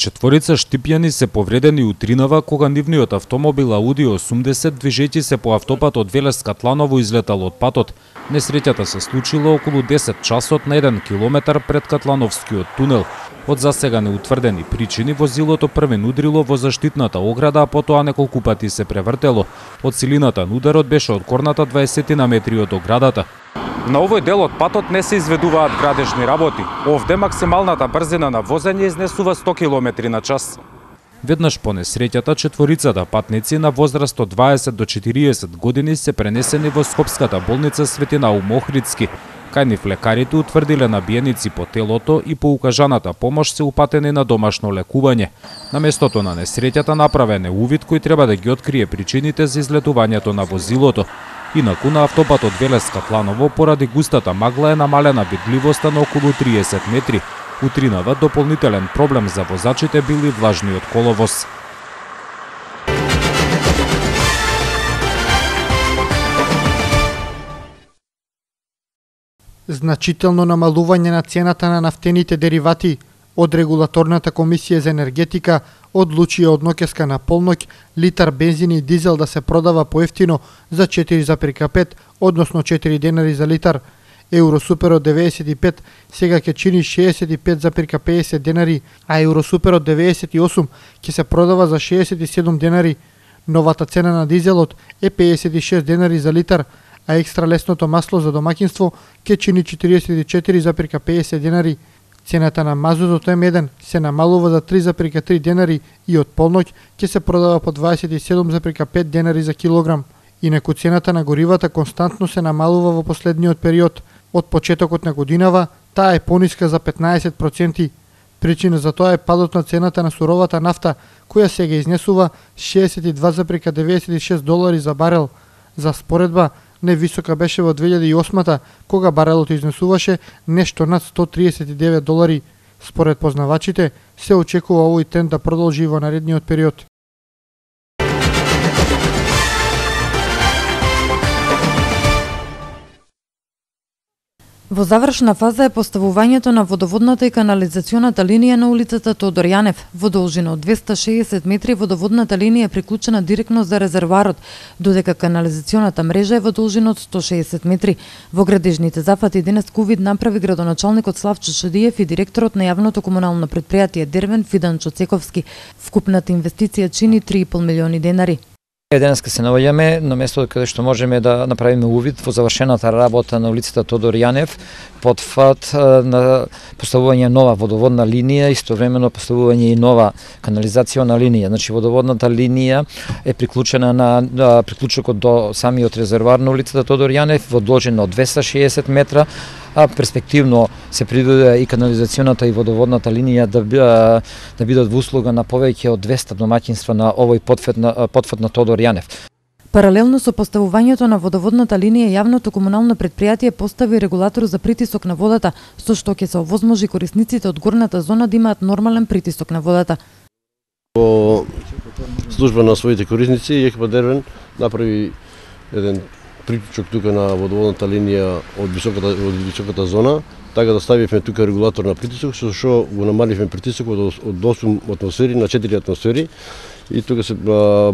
Четворица штипјани се повредени утринава кога нивниот автомобил Ауди 80 движејќи се по автопатот Велес-Катланово излетал од патот. Несреќата се случила околу 10 часот на 1 километар пред Катлановскиот тунел. Од засега неутврдени причини возилото првен удрило во заштитната ограда, а потоа неколку пати се превртело. Од силината на ударот беше откорната 20 на метри од оградата. На овој дел од патот не се изведуваат градежни работи. Овде максималната брзина на возење изнесува 100 км на час. Веднаш по несреќата, четворицата патници на возраст од 20 до 40 години се пренесени во Скопската болница Свети Наум Охридски. Кај нив лекарите утврдиле набиеници по телото и по укажаната помош се упатени на домашно лекување. На местото на несреќата направен е увид кој треба да ги открие причините за излетувањето на возилото. Инаку на автопатот Велес-Катланово поради густата магла е намалена видливоста на околу 30 метри. Утринава дополнителен проблем за возачите бил и влажниот коловоз. Значително намалување на цената на нафтените деривати од Регулаторната комисија за енергетика одлучија од ноќеска на полноќ литар бензин и дизел да се продава поевтино за 4,5, односно 4 денари за литар. Евросуперот 95 сега ќе чини 65,50 денари, а Евросуперот 98 ќе се продава за 67 денари. Новата цена на дизелот е 56 денари за литар, а екстра лесното масло за домаќинство ќе чини 44,50 денари. Цената на мазутот М1 се намалува за 3,3 денари и од полноќ ќе се продава по 27,5 денари за килограм. Инаку цената на горивата константно се намалува во последниот период. Од почетокот на годинава таа е пониска за 15%. Причина за тоа е падот на цената на суровата нафта, која сега изнесува 62,96 долари за барел. За споредба, невисока беше во 2008-та, кога барелот изнесуваше нешто над 139 долари. Според познавачите, се очекува овој тренд да продолжи во наредниот период. Во завршна фаза е поставувањето на водоводната и канализационата линија на улицата Тодор Јанев. Во должина од 260 метри водоводната линија е приклучена директно за резервоарот, додека канализационата мрежа е во должина од 160 метри. Во градежните зафати денес ковид направи градоначалникот Славчо Шадиев и директорот на јавното комунално предпријатие Дервен Фиданчо Цековски. Вкупната инвестиција чини 3,5 милиони денари. Денеска се наоѓаме на место каде што можеме да направиме увид во завршената работа на улицата Тодор Јанев, потфат на поставување нова водоводна линија, истовремено поставување и нова канализациона линија. Значи водоводната линија е приклучена на приклучокот до самиот резервоар на улицата Тодор Јанев во должина од 260 метра, а перспективно се предвиди и канализационата и водоводната линија да бидат во услуга на повеќе од 200 домаќинства на овој потфат на Тодор Јанев. Паралелно со поставувањето на водоводната линија, јавното комунално предпријатие постави регулатор за притисок на водата, со што ќе се овозможи корисниците од горната зона да имаат нормален притисок на водата. Во служба на своите корисници, ЕКП Дервен направи еден приклучок тука на водоводната линија од високата зона, така да ставивме тука регулатор на притисок, со што го намаливме притисокот од 8 атмосфери на 4 атмосфери. И тука се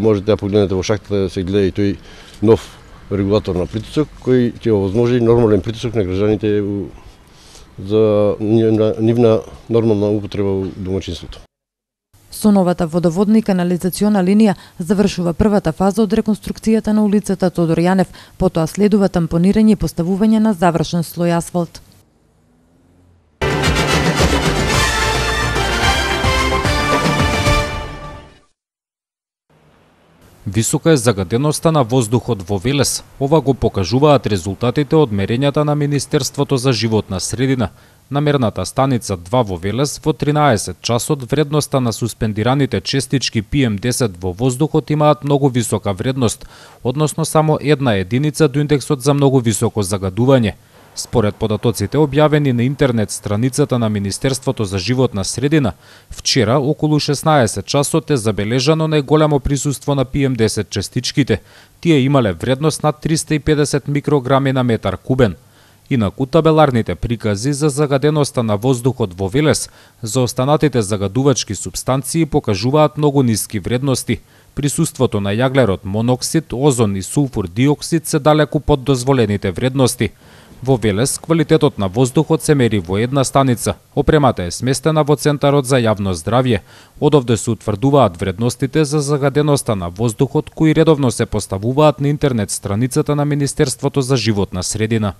можете да погледнете во шахтата да се гледа и тој нов регулатор на притисок кој ќе овозможи нормален притисок на граѓаните за нивна нормална употреба во домаќинството. Со новата водоводна и канализациона линија завршува првата фаза од реконструкцијата на улицата Тодор Јанев, потоа следува тампонирање и поставување на завршен слој асфалт. Висока е загаденоста на воздухот во Велес. Ова го покажуваат резултатите од мерењата на Министерството за животна средина. На мерната станица 2 во Велес во 13 часот вредноста на суспендираните честички PM10 во воздухот имаат многу висока вредност, односно само една единица до индексот за многу високо загадување. Според податоците објавени на интернет страницата на Министерството за животна средина, вчера околу 16 часот е забележано најголемо присуство на PM10 честичките. Тие имале вредност над 350 микрограми на метар кубен. Инаку табеларните прикази за загаденоста на воздухот во Велес за останатите загадувачки супстанции покажуваат многу ниски вредности. Присуството на јаглерод, моноксид, озон и сулфур диоксид се далеку под дозволените вредности. Во Велес квалитетот на воздухот се мери во една станица. Опремата е сместена во Центарот за јавно здравје. Одовде се утврдуваат вредностите за загаденоста на воздухот кои редовно се поставуваат на интернет страницата на Министерството за животна средина.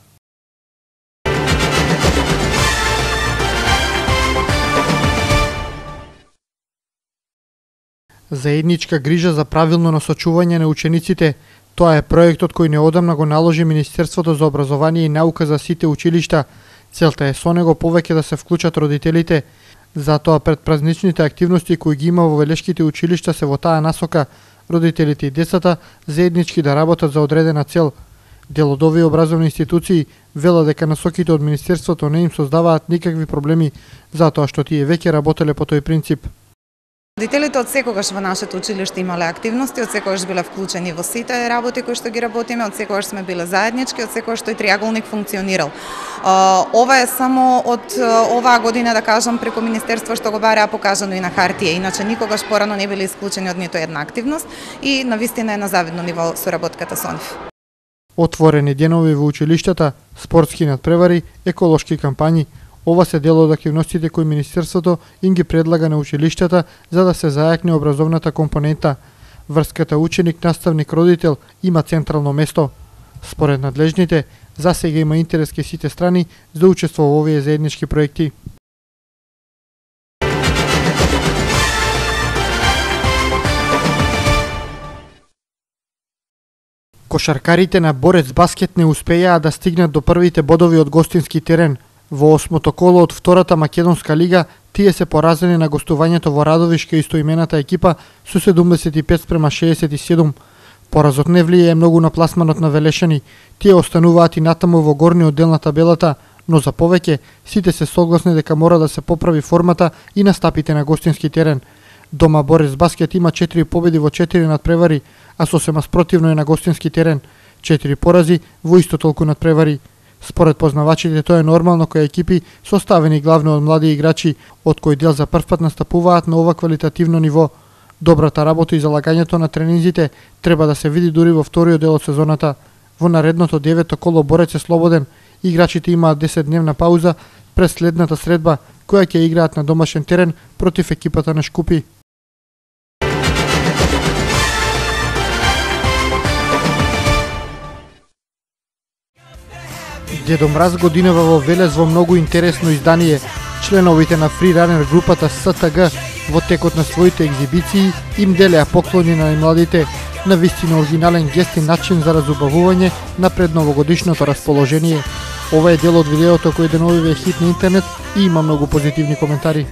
Заедничка грижа за правилно насочување на учениците. Тоа е проектот кој неодамна го наложи Министерството за образование и наука за сите училишта. Целта е со него повеќе да се вклучат родителите. Затоа предпразничните активности кои ги има во велешките училишта се во таа насока. Родителите и децата заеднички да работат за одредена цел. Дел од овие образовни институции вела дека насоките од Министерството не им создаваат никакви проблеми, затоа што тие веќе работеле по тој принцип. Родителите од секогаш во нашето училиште имале активности, од секогаш биле вклучени во сите работи кои што ги работиме, од секогаш сме биле заеднички, од секогаш тој триаголник функционирал. Ова е само од оваа година, да кажам, преку Министерство што го бараа покажано и на хартија, иначе никогаш порано не биле исклучени од ниту една активност и навистина е на завидно ниво соработката со нив. Отворени денови во училиштата, спортски надпревари, еколошки кампањи. Ова се дел од активностите кои Министерството им ги предлага на училиштата за да се зајакне образовната компонента. Врската ученик-наставник-родител има централно место. Според надлежните, засега има интерес кај сите страни за учество во овие заеднички проекти. Кошаркарите на Борец баскет не успеаа да стигнат до првите бодови од гостински терен. Во осмото коло од втората македонска лига, тие се поразени на гостувањето во Радовишка истоимената екипа со 75-67. Поразот не влијае многу на пласманот на велешани. Тие остануваат и натаму во горниот дел на табелата, но за повеќе сите се согласни дека мора да се поправи формата и настапите на гостински терен. Дома Борец баскет има 4 победи во 4 надпревари, а сосема спротивно е на гостински терен. 4 порази во исто толку надпревари. Според познавачите тоа е нормално кои екипи составени главно од млади играчи, од кои дел за прв пат настапуваат на ова квалитативно ниво. Добрата работа и залагањето на тренинзите треба да се види дури во вториот дел од сезоната. Во наредното 9-то коло Борец е слободен. Играчите имаат 10-дневна пауза пред следната средба, која ќе играат на домашен терен против екипата на Шкупи. Дедо Мраз годинава во Велес во многу интересно издание. Членовите на фриранер групата СТГ во текот на своите екзибиции им делеа поклони на најмладите, на вистина оригинален гест и начин за разубавување на предновогодишното расположение. Ова е дел од видеото кој деновиве е хит на интернет и има многу позитивни коментари.